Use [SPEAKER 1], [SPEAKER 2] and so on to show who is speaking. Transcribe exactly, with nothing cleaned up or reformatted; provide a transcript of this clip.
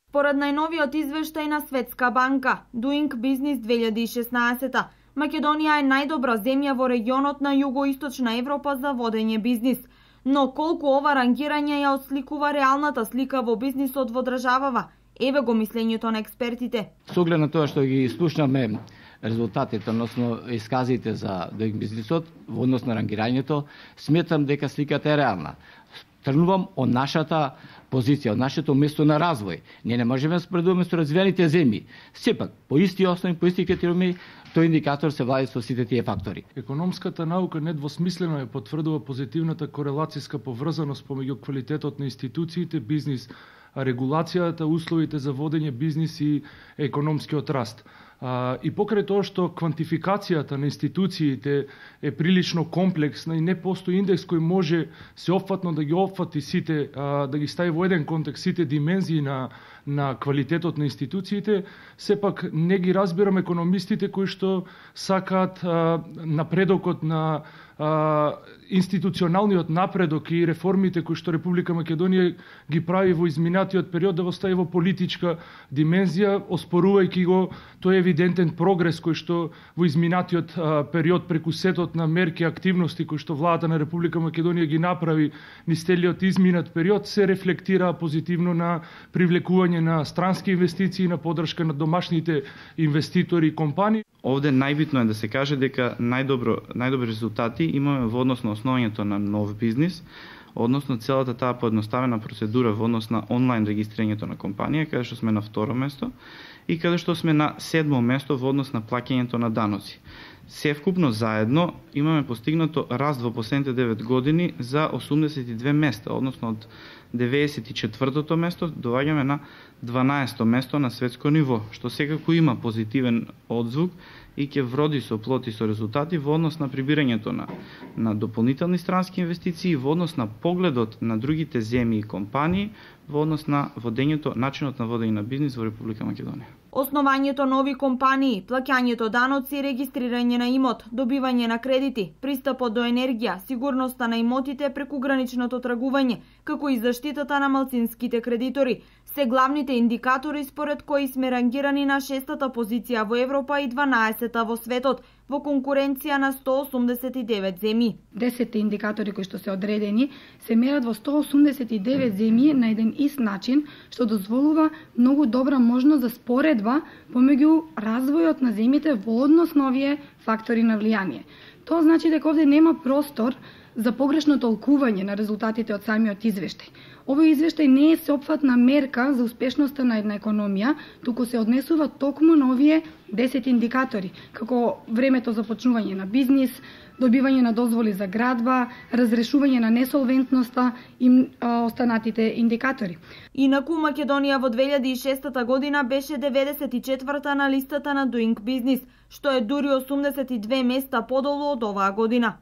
[SPEAKER 1] Според најновиот извештај на Светска банка Doing Business две илјади и шеснаесета, Македонија е најдобра земја во регионот на југоисточна Европа за водење бизнис. Но колку ова рангирање ја отсликува реалната слика во бизнисот во државава? Еве го мислењето на експертите.
[SPEAKER 2] Со оглед на тоа што ги слушнаме резултатите, односно исказите за Doing Business-от во однос на рангирањето, сметам дека сликата е реална. Тргнувам од нашата позиција, од нашето место на развој. Ние не можеме да споредуваме со развиените земји. Сепак, по исти основи, по исти критериуми, тој индикатор се влади со сите тие фактори.
[SPEAKER 3] Економската наука недвосмислено е потврдува позитивната корелацијска поврзаност помеѓу квалитетот на институциите, бизнис, регулацијата, условите за водење бизнис и економскиот раст. А, и покрај тоа што квантификацијата на институциите е прилично комплексна и не постои индекс кој може сеопфатно да ги опфати сите, а, да ги стави во еден контекст сите димензии на, на квалитетот на институциите, сепак не ги разбирам економистите кои што сакаат а, напредокот на а, институционалниот напредок и реформите кои што Република Македонија ги прави во изминатиот период да го стави во политичка димензија, оспорувајќи го тој евидентен прогрес кој што во изминатиот а, период преку сетот на мерки и активности кои што владата на Република Македонија ги направи низ целиот изминат период се рефлектира позитивно на привлекување на странски инвестиции, на поддршка на домашните инвеститори и компании.
[SPEAKER 4] Овде најбитно е да се каже дека најдобро најдобри резултати имаме во однос на основањето на нов бизнис, односно целата таа поедноставена процедура во однос на онлайн регистрирањето на компанија, каде што сме на второ место, и каде што сме на седмо место во однос на плаќањето на даноци. Севкупно заедно имаме постигнато раст во последните девет години за осумдесет и две места, односно од деветдесет и четвртото место доаѓаме на дванаесто место на светско ниво, што секако има позитивен одзвук и ќе вроди со плод и со резултати во однос на прибирањето на, на дополнителни странски инвестиции, во однос на погледот на другите земји и компании, во однос на водењето, начинот на водење на бизнис во Република Македонија.
[SPEAKER 1] Основањето нови компании, плаќањето даноци, регистрирање на имот, добивање на кредити, пристапот до енергија, сигурноста на имотите преку граничното тргување, како и заштитата на малцинските кредитори, се главните индикатори според кои сме рангирани на шестата позиција во Европа и дванаесета во светот, во конкуренција на сто осумдесет и девет земји.
[SPEAKER 5] десетте индикатори кои што се одредени се мерат во сто осумдесет и девет земји на еден ист начин, што дозволува многу добра можност за споредба помеѓу развојот на земјите во однос на овие фактори на влијание. Тоа значи дека овде нема простор за погрешно толкување на резултатите од самиот извештај. Овој извештај не е сеопфатна мерка за успешноста на една економија, туку се однесува токму на овие десет индикатори, како времето за почнување на бизнис, добивање на дозволи за градба, разрешување на несолвентноста и а, останатите индикатори.
[SPEAKER 1] Инаку Македонија во две илјади и шестата година беше деветдесет и четврта на листата на Doing Business, што е дури осумдесет и две места подолу од оваа година.